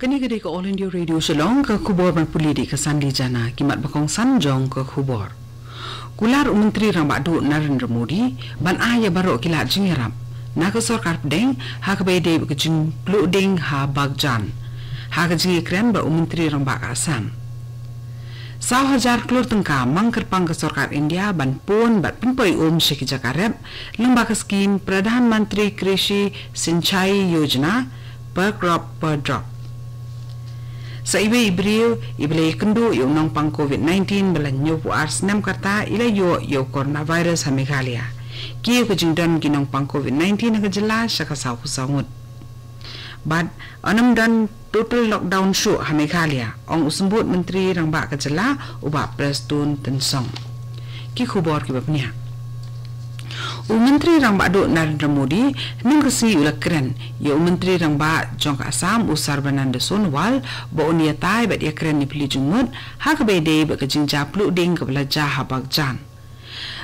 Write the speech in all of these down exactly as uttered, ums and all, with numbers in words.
Kane ka dei ka All India Radio Shillong, ka khubor ban pule da ka Sandy Jana. Ki mat ba kongsan jong ka khubor. Kular u Myntri Rangbah Duh Narendra Modi ban ai ïa baroh ki lad jingïarap na ka sorkar pdeng ha kaba ïadei bad ka jingpluh ding ha Bagjan, ha ka jingïakren bad u Myntri Rangbah ka Assam. Saw hajar klur tyngka mang kyrpang ka sorkar India ban pun bad pynpoi um sha ki jaka rep lyngba ka skhim Pradhan Mantri Krishi Sinchai Yojana, per crop per drop. Sa iwei i briew iba la ïakynduh ïa u nongpang covid nineteen ba la hynñiewphew ar snem ka rta i la ïoh ïa u coronavirus ha Meghalaya. Ki ïa ka jingdon ki nongpang covid nineteen ha ka jylla sha ka sawphew saw ngut. Bad yn ym don total lockdown shuh ha Meghalaya, ong u Symbud Myntri Rangbah ka jylla u Bah Prestone Tynsong. Ki khubor kiba bniah. U Myntri Rangbah Duh Narendra Modi hynnin ka sngi u la kren ïa u Myntri Rangbah jong ka Assam u Sarbananda Sonowal ba un ïatai bad ïakren ïaphylliew jingmut ha kaba ïadei bad ka jingjia pluh ding kaba la jia ha Bagjan.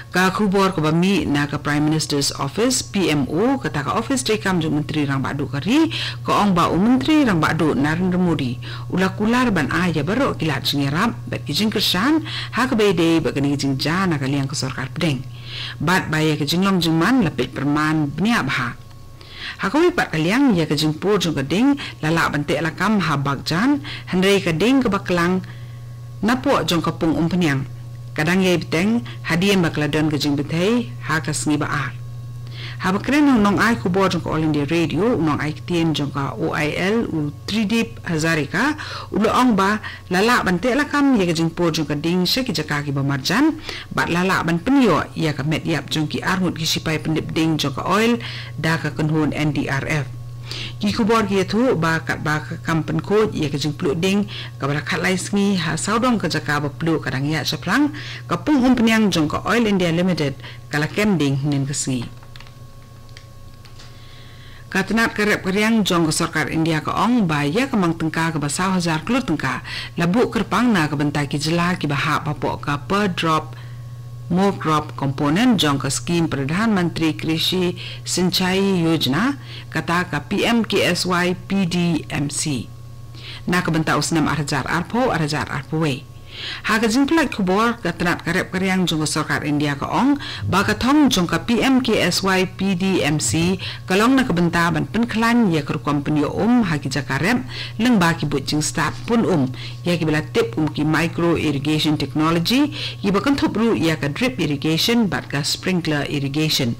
Ka khubor kaba mih na ka Prime Minister's Office, P M O, kata ka ophis treikam jong u Myntri Rangbah Duh ka ri, ka ong ba u Myntri Rangbah Duh Narendra Modi u la kular ban ai ïa baroh ki lad jingïarap bad ki jingkyrshan ha kaba ïadei bad kane ka jingjia na ka liang ka sorkar pdeng. Bad ba ïa ka jinglong jingman la peit pyrman bniah bha. Ha kawei pat ka liang, ïa ka jingpur jong ka ding la lah ban teh lakam ha Bagjan, hynrei ka ding kaba klang napoh jong ka pung umphniang ka dang ïai bteng hadien ba ka la don ka jingbthei ha ka sngi ba ar. Haba kren ha u nongai khubor jong ka All India Radio, u nongai ktien jong ka O I L u Tridip Hazarika u la ong ba la lah ban teh lakam ïa ka jingpur jong ka ding sha ki jaka kiba marjan bad la lah ban pynïoh ïa ka met ïap jong ki arngut ki shipai pyndep ding jong ka oil da ka kynhun N D R F. Ki khubor ki ïathuh ba katba ka kam pynkhuid ïa ka jingpluh ding kaba la khatlai sngi ha sawdong ka jaka ba pluh ka dang ïaid shaphang, ka pung umphniang jong ka Oil India Limited ka la kem ding hynnin ka sngi. Ka tnat ka rep ka riang jong ka sorkar India ka ong ba ïa ka mang tyngka kaba saw hajar klur tyngka la buh kyrpang na ka bynta ki jylla kiba hap hapoh ka per drop more crop component jong ka skhim Pradhan Mantri Krishi Sinchai Yojana, kata ka P M K S Y P D M C, na ka bynta u snem ar hajar arphew, ar hajar arphew wei. Ha ka jingpynlait khubor, ka tnat ka rep ka riang jong ka sorkar India ka ong ba ka thong jong ka P M K S Y P D M C ka long na ka bynta ban pynkhlaiñ ïa ka rukom pynïoh um ha ki jaka rep lyngba ki buit jingstad pun um ïa kiba la tip kum ki micro irrigation technology, kiba kynthup ruh ïa ka drip irrigation bad ka sprinkler irrigation.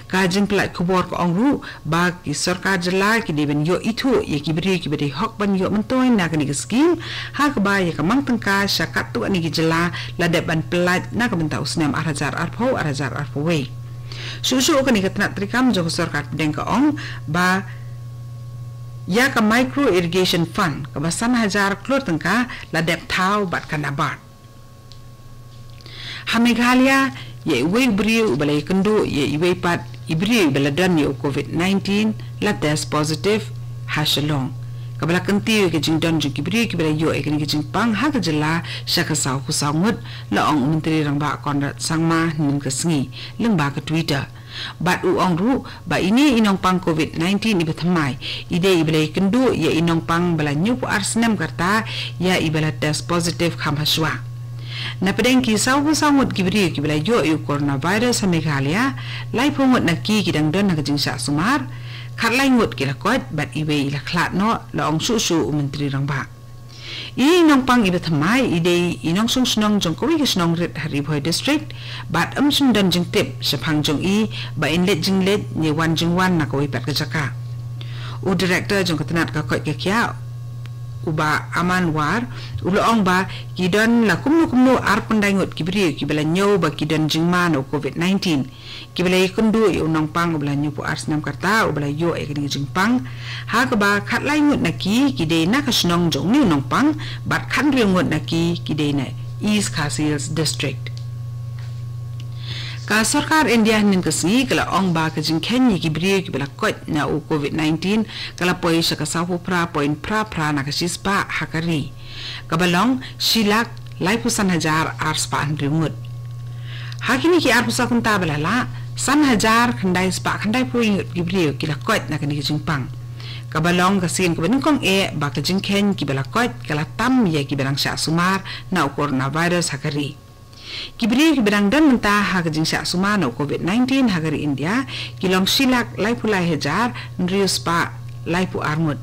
Ka jingpynlait khubor ka ong ruh ba ki sorkar jylla ki dei ban ïoh ithuh ïa ki briew kiba dei hok ban ïoh myntoi na kane ka skhim, ha kaba ïa ka mang tyngka sha katto katne ki jylla la dep ban pyllait na ka bynta u snem ar hajar arphew, ar hajar arphew wei. Shuh shuh kane ka tnat treikam jong ka sorkar pdeng ka ong ba ïa ka micro irrigation fund kaba san hajar klur tyngka la dep thaw bad ka NABARD. Ha Meghalaya, ïa iwei u briew uba la ïakynduh ïa iwei pat i briew iba la don ïa u covid nineteen la test positive ha Shillong, kaba la kyntiew ïa ka jingdon jong ki briew kiba la ïoh ïa kane ka jingpang ha ka jylla sha ka sawphew saw ngut, la ong u Myntri Rangbah Conrad Sangma hynnin ka sngi lyngba ka Twitter. Bad u ong ruh ba ine i nongpang covid nineteen iba thymmai i dei iba la ïakynduh ïa i nongpang ba la hynñiewphew ar snem ka rta ïa iba la test positive kham hashwa. Na pdeng ki sawphew saw ngut ki briew kiba la ïoh ïa u coronavirus ha Meghalaya, laiphew ngut na ki ki dang don ha ka jingshah sumar, khatlai ngut ki la koit bad iwei i la khlad noh, la ong shuh shuh u Myntri Rangbah. I nongpang iba thymmai i dei i nongshong shnong jong kawei ka shnong rit ha Ri Bhoi District, bad ym shym don jingtip shaphang jong i ba in leit jingleit ne wan jingwan na kawei pat ka jaka. U Director jong ka tnat ka koit ka khiah, u Bah Aman War, u la ong ba ki don la kumno kumno arphew khyndai ngut ki briew kiba la ñiew ba ki don jingma na u covid nineteen, kiba la ïakynduh ïa u nongpang uba la hynñiewphew ar snem ka rta uba la ïoh ïa kane ka jingpang, ha kaba khatlai ngut na ki ki dei na ka shnong jong une u nongpang, bad khathynriew ngut na ki ki dei na East Khasi Hills District. Ka sorkar India hynnin ka sngi ka la ong ba ka jingkheiñ ïa ki briew kiba la koit na u covid nineteen ka la poi sha ka sawphew phra point phra phra na ka shispah ha ka ri, kaba long shi lak laiphew san hajar ar spah hynriew ngut. Ha kine ki arphew saw kynta ba la lah, san hajar khyndai spah khyndaiphew ngut ki briew ki la koit na kane ka jingpang, Kaba long ka sien kaba nyngkong eh ba ka jingkheiñ kiba la koit ka la tam ïa kiba dang shah sumar na u coronavirus ha ka ri. Ki briew kiba dang don mynta ha ka jingshah sumar na u COVID nineteen ha ka ri India ki long shi lak laiphew lai hajar hynriew spah laiphew ar ngut.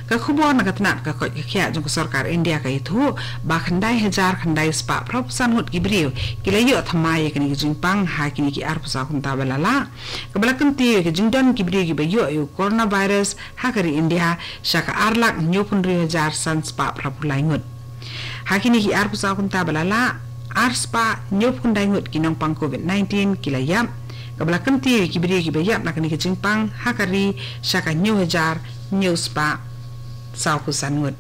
Ka khubor na ka tnat ka koit ka khiah jong ka sorkar India ka ïathuh ba khyndai hajar khyndai spah phra phew san ngut ki briew ki la ïoh thymmai ïa kane ka jingpang ha kine ki arphew saw kynta ba la lah, kaba la kyntiew ïa ka jingdon ki briew kiba ïoh ïa u coronavirus ha ka ri India sha ka ar lak hynñiewphew hynriew hajar san spah phra phew lai ngut. Ha kine ki arphew saw kynta ba la lah, ar spah hynñiewphew khyndai ngut ki nongpang COVID nineteen ki la ïap, kaba la kyntiew ïa ki briew kiba ïap na kane ka jingpang ha ka ri sha ka hynñiew hajar hynñiew spah saw phew san ngut.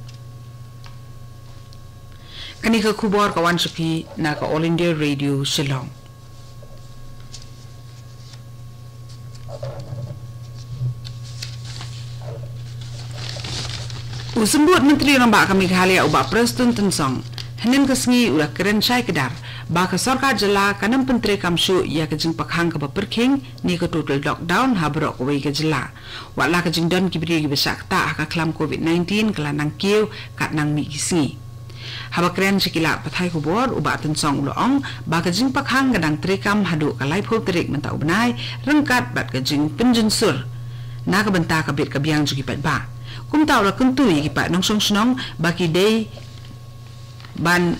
Kane ka khubor ka wan sha phi na ka All India Radio Shillong. U Symbud Myntri Rangbah ka Meghalaya u Bah Prestone Tynsong hynnin ka sngi u la kren shai kdar ba ka sorkar jylla kan ym pyntreikam shuh ïa ka jingpakhang kaba pyrkhing ne ka total lockdown ha baroh kawei ka jylla, wat la ka jingdon ki briew kiba shah ktah ha ka khlam COVID nineteen ka la nang kiew kat nang mih ki sngi. Haba kren sha ki lad pathai khubor, u Bah Tynsong u la ong ba ka jingpakhang ka dang treikam haduh ka laiphew tarik mynta u bnai, ryngkat bad ka jingpynjynsur na ka bynta ka bit ka biang jong ki paidbah. Kumta u la kyntu ïa ki paid nongshong shnong ba ki dei ban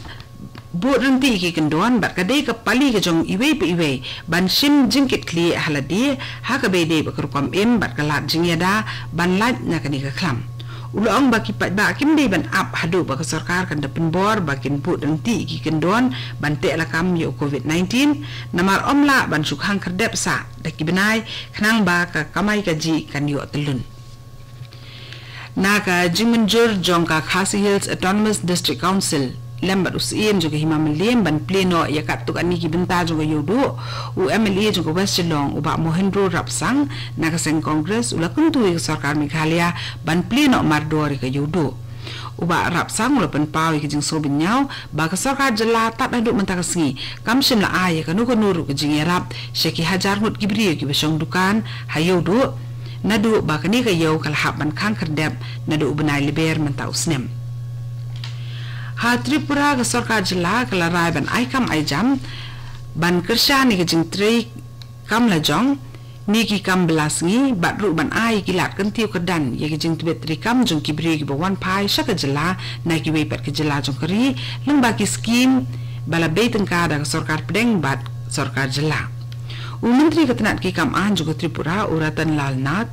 bud ryntih ïa ki kyndon bad ka dei ka pali ka jong iwei pa iwei ban shim jingkitkhlieh ha lade ha kaba ïadei bad ka rukom im bad ka lad jingïada ban lait na kane ka khlam. U la ong ba ki paidbah kim dei ban ap haduh ba ka sorkar kan da pynbor ba kin bud ryntih ïa ki kyndon ban teh lakam ïa u COVID nineteen, namar ym lah ban shu khang khyrdep sah da ki bnai khnang ba ka kamai kajih kan ïoh tyllun. Na ka jingmynjur jong ka Khasi Hills Autonomous District Council lem bad u Syiem jong ka Hima Mylliem ban plie noh ïa katto katne ki bynta jong ka Ïewduh, u MLA jong ka West Shillong u Bah Mohendro Rapsang na ka seng Congress u la kyntu ïa ka sorkar Meghalaya ban plie noh mardor ïa ka Ïewduh. U Bah Rapsang u la pynpaw ïa ka jingsngew bynñiaw ba ka sorkar jylla tad haduh mynta ka sngi kam shym la ai ïa kano kano ruh ka jingïarap sha ki hajar ngut ki briew kiba shong dukan ha Ïewduh, naduh ba kane ka ïew ka la hap ban khang khyrdep naduh u bnai Lber mynta u snem. Ha Tripura ka sorkar jylla ka la rai ban ai kam ai jam ban kyrshan ïa ka jingtrei kam lajong ne ki kam bylla sngi bad ruh ban ai ki lad kyntiew kyrdan ïa ka jingtbit treikam jong ki briew kiba wan phai sha ka jylla na kiwei pat ki jylla jong ka ri, lyngba ki skim ba la bei tyngka da ka sorkar pdeng bad sorkar jylla. U Myntri ka tnat ki kam aiñ jong ka Tripura u Ratan Lal Nath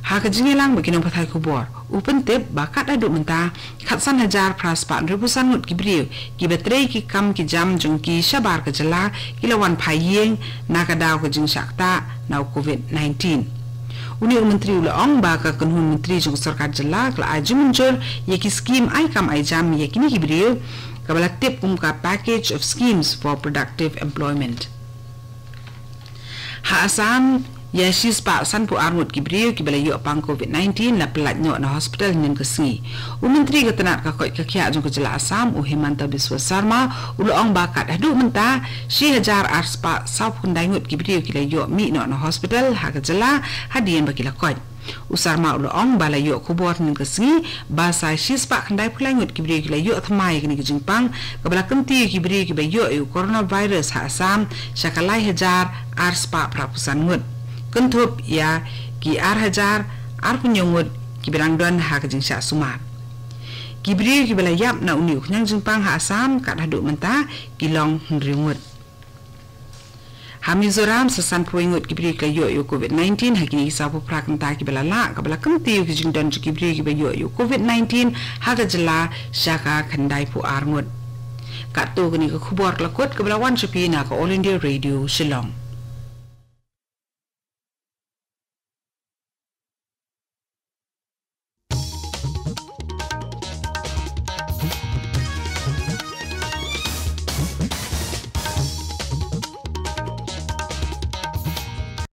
ha ka jingïalang bad ki nongpathai khubor u pyntip ba kat haduh mynta khatsan hajar phra spah hynriewphew san ngut ki briew kiba trei ki kam ki jam jong ki shabar ka jylla ki la wan phai ïing na ka daw ka jingshah ktah na u COVID nineteen. Une u Myntri u la ong ba ka kynhun Myntri jong ka sorkar jylla ka la ai jingmynjur ïa ki skim ai kam ai jam ïa kine ki briew kaba la tip kum ka Package of Schemes for Productive Employment. Ha Assam, ïa shispah sanphew ar ngut ki briew kiba la ïoh pang COVID nineteen la pyllait noh na hospital hynnin ka sngi. U Myntri ka tnat ka koit ka khiah jong ka jylla Assam, u Himanta Biswa Sarma, u la ong ba kat haduh mynta, shi hajar arspah sawphew khyndai ngut ki briew ki la ïoh mih noh na hospital ha ka jylla hadien ba ki la koit. U Sarma u la ong ba la ïoh khubor hynnin ka sngi ba sa shispah khyndaiphew lai ngut ki briew ki la ïoh thymmai ïa kane ka jingpang kaba la kyntiew ïa ki briew kiba ïoh ïa u coronavirus ha Assam sha ka lai hajar arspah phraphew san ngut, kynthup ïa ki ar hajar arphew hynñiew ngut kiba dang don ha ka jingshah sumar. Ki briew kiba la ïap na une u khñiang jingpang ha Assam kat haduh mynta ki long hynriew ngut. Ha Mizoram, sa sanphew wei ngut ki briew ki la ïoh ïa u COVID nineteen ha kine ki sawphew phra kynta kiba la lah, kaba la kyntiew ïa ki jingdon jong ki briew kiba ïoh ïa u COVID nineteen ha ka jylla sha ka khyndaiphew ar ngut. Katto katne ka khubor ka la kut kaba la wan sha phi na ka All India Radio Shillong.